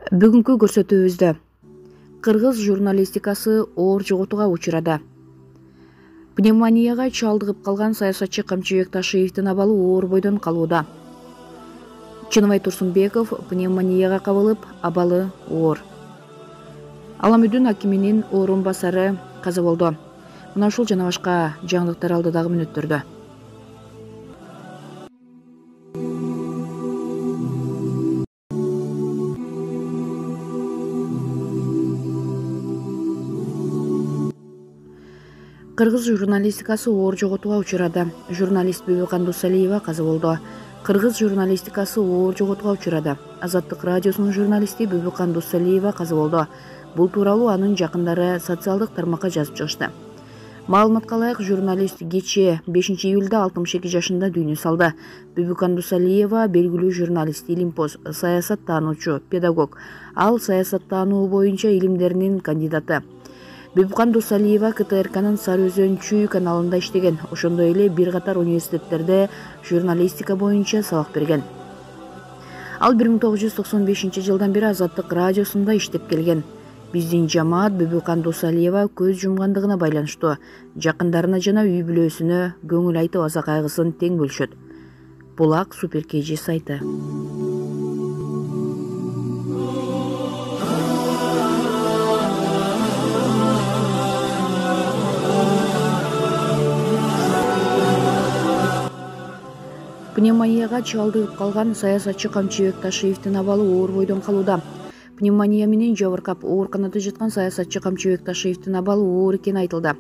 Бүгүнкү көрсөтүүбүздө кыргыз журналистикасы оор жоготууга учурады. Пневмонияга чалдыгып калган саясатчы Камчыбек Ташиевдин абалы оор бойдон калууда. Чыныбай Турсунбеков пневмонияга кабылып, абалы оор. Аламүдүн акиминин орун басары каза болду. Мына ушул жана башка жаңылыктар алдыдагы мүнөттөрдө. Кыргыз журналистикасы оор жоготууга учурады. Журналист Бүбүкан Дусалиева каза болду. Кыргыз журналистикасы оор жоготууга учурады. Азаттык радиосунун журналисти Бүбүкан Дусалиева каза болду. Бул тууралуу анын жакындары социалдык тармакка жазып чыгышты. Маалыматка ылайык, журналист кечээ 5 июлда 62 жашында дүйнө салды. Бүбүкан Дусалиева белгилүү журналист, илимпоз, саясаттануучу, педагог. Ал саясаттануу боюнча илимдеринин кандидаты. Бүбүкан Дусалиева КТРКнын Сары Өзөн Чүй каналында иштеген. Ошондой эле бир катар университеттерде журналистика боюнча сабак берген. Ал 1995 жылдан бери Азаттык радиосунда иштеп келген. Биздин жамаат Бүбүкан Дусалиева көз жумгандыгына байланыштуу жакындарына жана үй бүлөсүнө көңүл айтып аза кайгысын тең бөлүшөт. Булак Супер KG сайты. Пневмонияга чалдыгып калган саясатчы Камчыбек Ташиевдин абалы оор бойдон калууда. Пневмония менен жабыркап ооруканада жаткан саясатчы Камчыбек Ташиевдин абалы оор экени айтылды.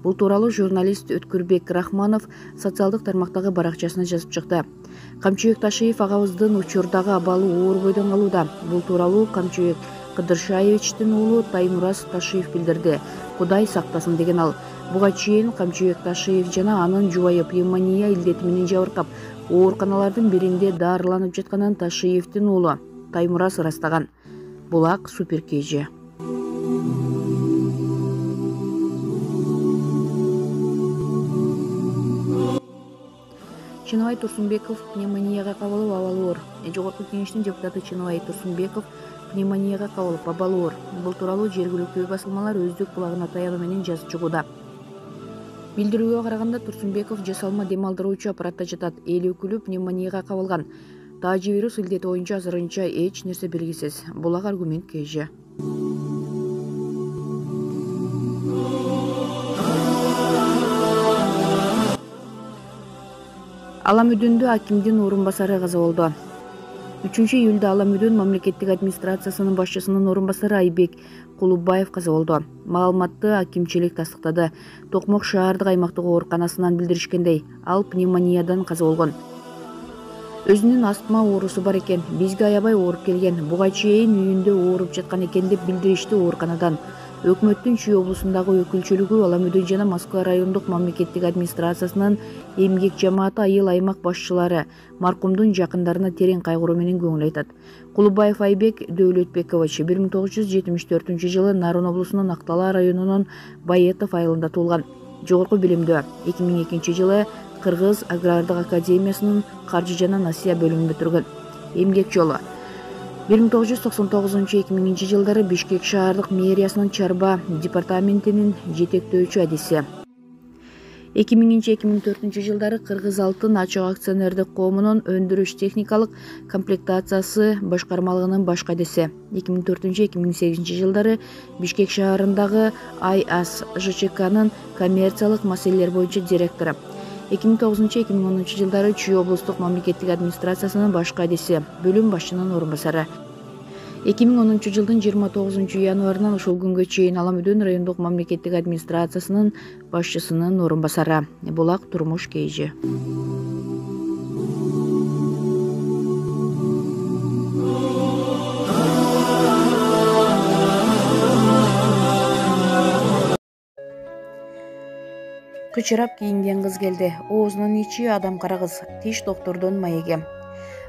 Бул тууралуу журналист Өткүрбек Рахманов социалдык тармактагы баракчасына жазып чыкты. Камчыбек Ташиев агабыздын учурдагы абалы оор бойдон калууда. Бул тууралуу Камчыбек Кыдыршаевичтин уулу Таймураз Ташиев билдирди. Кудай сактасын деген ал. Буга чейин Камчыбек Ташиев жана анын жубайы пневмония илдети менен жабыркап ооруканалардын биринде дарыланып жатканын Ташиевдин уулу Таймураз ырастаган. Булак Супер KG. Чыныбай Турсунбеков пневмонияга кабылып, абалы оор. Жогорку кеңештин депутаты Чыныбай Турсунбеков пневмонияга кабылып, абалы оор. Бул тууралуу жергиликтүү басылмалар өздүк булагына таянуу менен жазып чыгууда. Билдирүүгө караганда, Турсунбеков жасалма дем алдыруучу аппаратта жатат. Эл өкүлү пневмонияга кабылган. Таажы вирус илдети боюнча азырынча эч нерсе белгисиз. Булак Аргумент KG. Аламүдүндө акимдин орун басары каза болду. 3 июлда Аламүдүн мамлекеттик администрациясынын башчысынын орун басары Айбек Кулубаев каза болду. Маалыматты акимчилик тастыктады. Токмок шаардык аймактык ооруканасынан билдиришкендей, ал пневмониядан каза болгон. Өзүнүн астма оорусу бар экен. Бизге аябай ооруп келген. Буга чейин үйүндө ооруп жаткан экен деп билдиришти ооруканадан. Өкмөттүн Чүй облусундагы өкүлчүлүгү Аламүдүн жана Москва райондук мамлекеттик администрациясынын эмгек жамааты айыл аймак башчылары маркумдун жакындарына терең кайгыруу менен көңүл айтат. Кулубаев Айбек Дөөлөтбекович 1974 жылы Нарын облусунун Актала районунун Байетов айылында туулган. Жогорку билимдүү. 2002 жылы Кыргыз агрардык академиясынын каржы жана насыя бөлүмүн бүтүргөн. Эмгек жолу 1999-2000 жылдары Бишкек шаардык мэриясынын чарба департаментинин жетектөөчү адиси. 2000-2004 жылдары Кыргыз Алтын ачык акционердик коомунун өндүрүш техникалык комплектациясы башкармалыгынын баш кадиси. 2004-2008 жылдары Бишкек шаарындагы АЙАС ЖЧКнын коммерциялык маселелер боюнча директору. 2009-2010 жылдары Чүй облустук мамлекеттик администрациясынын баш кадиси, бөлүм башчынын орун басары. 2010 жылдын 29 январынан ушул күнгө чейин Аламүдүн райондук мамлекеттик администрациясынын башчысынын орун басары. Булак Турмуш KG. Кычырап кийинген кыз келди. Оозунун ичи адам кара кыз. Тиш доктордун маеги.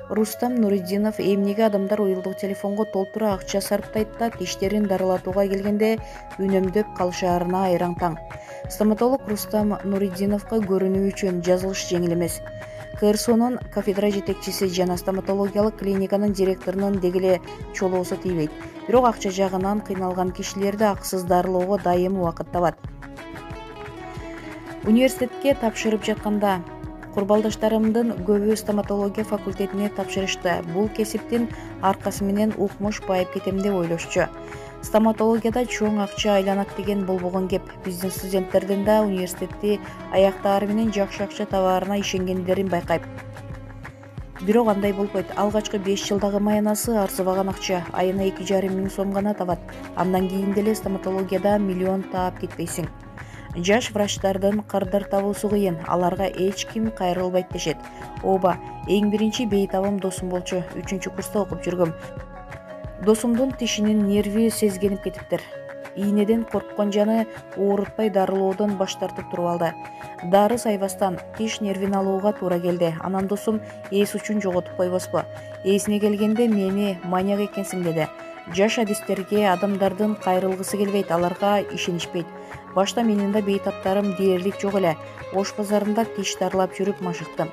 Рустам Нуриддинов эмнеге адамдар уюлдук телефонго толтура акча сарптайт да тиштерин дарылатууга келгенде үнөмдөп калышаарына айраң таң. Стоматолог Рустам Нуриддиновго көрүнүү үчүн жазылыш жеңил эмес. КРСОнун кафедра жетекчиси жана стоматологиялык клиниканын директорунун деги эле чолоосу тийбейт. Бирок акча жагынан кыйналган кишилерди акысыз дарылоого дайым убакыт табат. Университетке тапшырып жатканда курбалдаштарымдын көбү стоматология факультетине тапшырышты. Бул кесиптин аркасы менен укмуш байып кетем деп ойлошчу. Стоматологияда чоң акча айланат деген болбогон кеп. Биздин студенттердин да университетти аяктаары менен жакшы акча табаарына ишенгендерин байкайм. Бирок андай болбойт. Алгачкы 5 жылдагы маянасы арзыбаган акча, айына 2,5 миң сом гана табат. Андан кийин деле стоматологияда миллион таап кетпейсиң. Жаш врачтардын кырдыр табуусу кыйын, аларга эч ким кайрылбайт дешет. Ооба, эң биринчи бейтабым досум болчу. 3-курста окуп жүргөм. Досумдун тишинин нерви сезгенип кетиптир. Ийнеден корккон жаны оорутпай дарылоодон баш тартып туруп алды. Дары сайбастан тиш нервин алууга туура келди. Анан досум эс учун жоготуп койбоспу? Эсине келгенде мени маньяк экенсиң деди. Жаш адистерге адамдардын кайрылгысы келбейт, аларга ишенишпейт. Башта менин да бейтаптарым дээрлик жок эле. Ош базарында тиш дарылап жүрүп машыктым.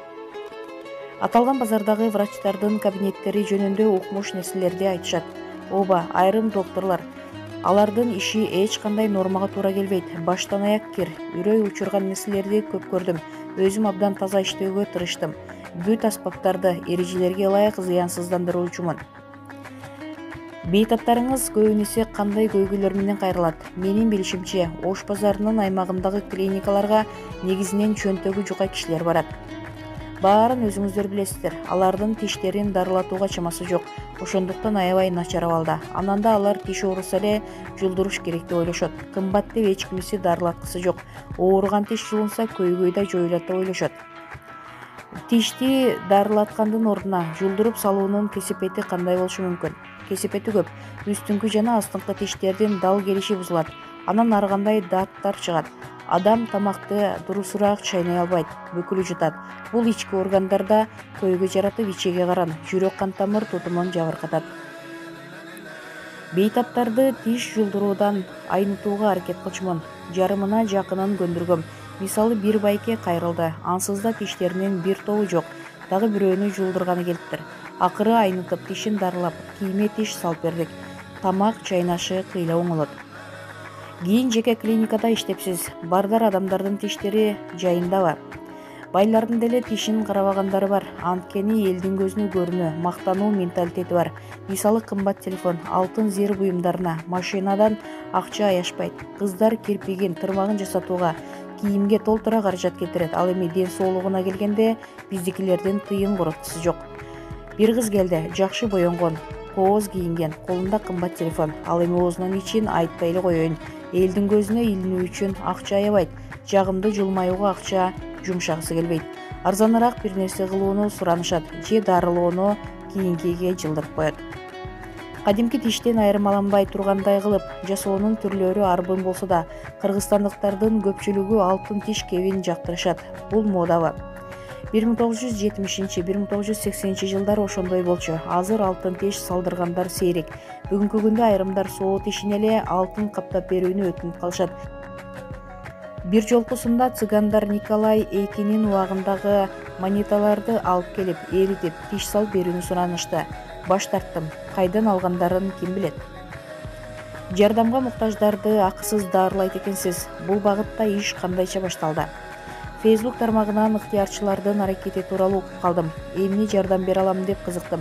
Аталган базардагы врачтардын кабинеттери жөнүндө укмуш нерселерди айтышат. Ооба, айрым докторлор, алардын иши эч кандай нормага туура келбейт. Баштан аяк кир, үрөй учурган нерселерди көп көрдүм. Өзүм абдан таза иштөөгө тырыштым. Бүт аспаптарды эрежелерге ылайык зыянсыздандыруучумун. Бейтаптарыңыз көбүнесе кандай көйгөйлөр менен кайрылат? Менин билишимче, Ош базарынын аймагындагы клиникаларга негизинен чөнтөгү жука кишилер барат. Баарын өзүңүздөр билесиздер. Алардын тиштерин дарылатууга чамасы жок. Ошондуктан аябай начар абалда. Анан да алар тиш ооруса эле жулдуруш керек деп ойлошот. Кымбат деп эч кимиси дарылаткысы жок. Ооруган тиш жулунса көйгөй да жоюлат деп ойлошот. Тишти дарылаткандын ордуна жулдуруп салуунун кесепети кандай болушу мүмкүн? Кесепети көп. Үстүңкү жана астыңкы тиштердин дал келиши бузулат. Анан ар кандай даттар чыгат. Адам тамакты дурусураак чайнай албайт, бүкүлү жутат. Бул ички органдарда көйгөй жаратып, ичеге каран, жүрөк кан тамыр тутумун жабыркатат. Бейтаптарды тиш жулдуруудан айнытууга аракет кылчумун. Жарымына жакынын көндүргөм. Мисалы, бир байке кайрылды. Ансыз да тиштеринин бир тобу жок. Дагы бирөөнү жулдурганы келиптир. Акыры айнытып, тишин дарылап, кийиме тиш салып бердик. Тамак чайнашы кыйла оңолот. Кийин жеке клиникада иштепсиз. Бардар адамдардын тиштери жайындабы? Байлардын деле тишин карабагандары бар. Анткени элдин көзүнө көрүнүү, мактануу менталитети бар. Мисалы, кымбат телефон, алтын зир буюмдарына, машинадан акча аяшпайт. Кыздар кирпигин, тырмагын жасатууга, кийимге толтура каражат кетирет. Ал эми ден соолугуна келгенде биздикилердин тыйын короткусу жок. Бир кыз келди, жакшы боенгон, кооз кийинген, колунда кымбат телефон. Ал эми оозунун ичин айтпай эле коеюн. Элдин көзүнө илинүү үчүн акча аябайт. Жагымды жылмаюуга акча жумшагысы келбейт. Арзаныраак бир нерсе кылууну суранышат же дарылоону кийинкиге жылдырып коет. Кадимки тиштен айырмаланбай тургандай кылып жасоонун түрлөрү арбын болсо да, кыргызстандыктардын көпчүлүгү алтын тиш кебин жактырышат. Бул модабы? 1970-1980 жылдары ошондой болчу. Азыр алтын тиш салдыргандар сейрек. Бүгүнкү күндө айрымдар соо тишине эле алтын каптап берүүнү өтүнүп калышат. Бир жолкусунда цыгандар Николай Эйкинин убагындагы монеталарды алып келип, эритип, тиш салып берүүнү суранышты. Баш тарттым. Кайдан алгандарын ким билет? Жардамга муктаждарды акысыз дарылайт экенсиз. Бул багытта иш кандайча башталды? Facebook тармагынан ыктыярчылардын аракети тууралуу окуп калдым. Эмне жардам бере алам деп кызыктым.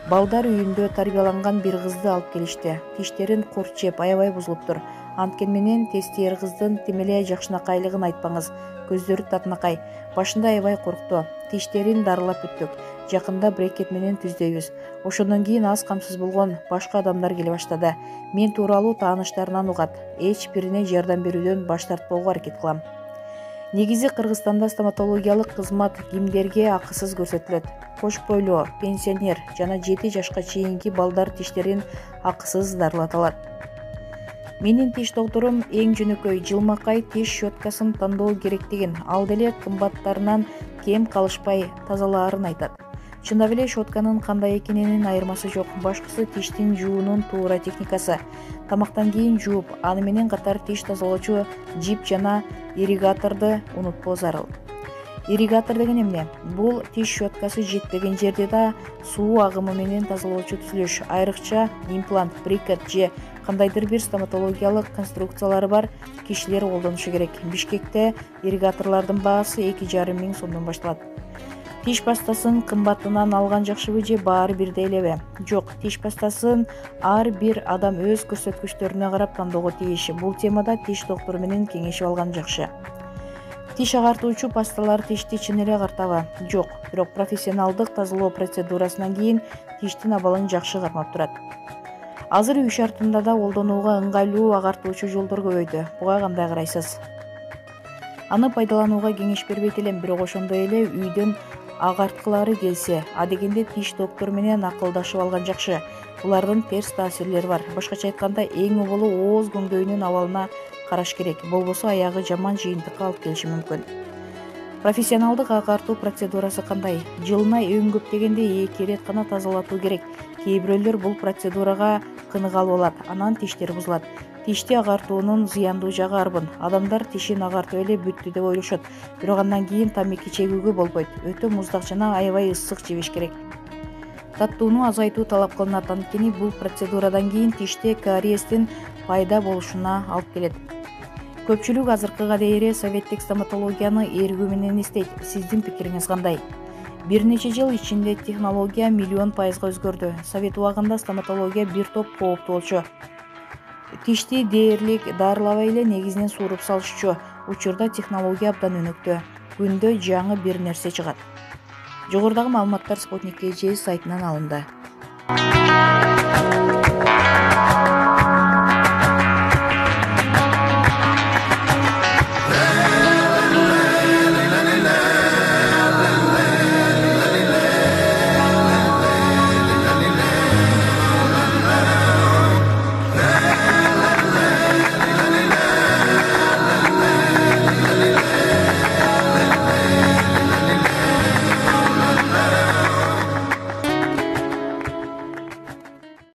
Балдар үйүндө тарбияланган бир кызды алып келишти. Тиштерин курт жеп, аябай бузулуптур. Анткен менен тестиер кыздын тим эле жакшынакайлыгын айтпаңыз. Көздөрү татынакай. Башында аябай коркту. Тиштерин дарылап бүттүк. Жакында брекет менен түздөйбүз. Ошондон кийин аз камсыз болгон башка адамдар келе баштады. Мен тууралуу тааныштарынан угат. Эч бирине жардам берүүдөн баш тартпоого аракет кылам. Негизи Кыргызстанда стоматологиялык кызмат кимдерге акысыз көрсөтүлөт? Кош бойлуу, пенсионер жана 7 жашка чейинки балдар тиштерин акысыз дарылата алат. Менин тиш докторум эң жөнөкөй жылмакай тиш щеткасын тандоо керектигин, ал деле кымбаттарынан кем калышпай тазалаарын айтат. Чындап эле щетканын кандай экенинин айырмасы жок. Башкысы тиштин жуунун туура техникасы. Тамактан кийин жууп, аны менен катар тиш тазалоочу жип жана ирригаторду унутпоо зарыл. Ирригатор деген эмне? Бул тиш щеткасы жетпеген жерде да суу агымы менен тазалоочу түзүлүш, айрыкча имплант, брикет же кандайдыр бир стоматологиялык конструкциялары бар кишилер колдонушу керек. Бишкекте ирригаторлордун баасы 2,5 миң сомдон башталат. Тиш пастасын кымбатынан алган жакшыбы же баары бирдей элеби? Жок, тиш пастасын ар бир адам өз көрсөткүчтөрүнө карап тандоого тийиш. Бул темада тиш доктору менен кеңешип алган жакшы. Тиш агартуучу пасталар тишти чын эле агартабы? Жок, бирок профессионалдык тазалоо процедурасынан кийин тиштин абалын жакшы кармап турат. Азыр үй шартында да колдонууга ыңгайлуу агартуучу жолдор көбөйдү. Буга кандай карайсыз? Аны пайдаланууга кеңеш бербейт элем, бирок ошондой эле үйдөн агарткылары келсе, адегенде тиш доктору менен акылдашып алган жакшы. Булардын терс таасирлери бар. Башкача айтканда, эң убулу ооз көңдөйүнүн абалына караш керек. Болбосо аягы жаман жыйынтыкка алып келиши мүмкүн. Профессионалдык агартуу процедурасы кандай? Жылына эң көп дегенде 2 ирет гана тазалатуу керек. Кээ бирөөлөр бул процедурага кыныгалы болот, анан тиштер бузулат. Тишти агартуунун зыяндуу жагы арбын. Адамдар тишин агартып эле бүттү деп ойлошот, бирок андан кийин тамеки чегүүгө болбойт. Өтө муздак жана аябай ысык жебеш керек. Таттууну азайтуу талап кылынат, анткени бул процедурадан кийин тиште кариестин пайда болушуна алып келет. Көпчүлүк азыркыга дейре советтик стоматологияны эргүү менен эстейт. Сиздин пикириңиз кандай? Бир нече жыл ичинде технология миллион пайызга өзгөрдү. Совет убагында стоматология бир топ кооптуу болчу. Тишти дээрлик дарылабай эле негизинен сууруп салышчу. Учурда технология абдан өнүктү. Күндө жаңы бир нерсе чыгат. Жогорудагы маалыматтар Спутник KG сайтынан алынды.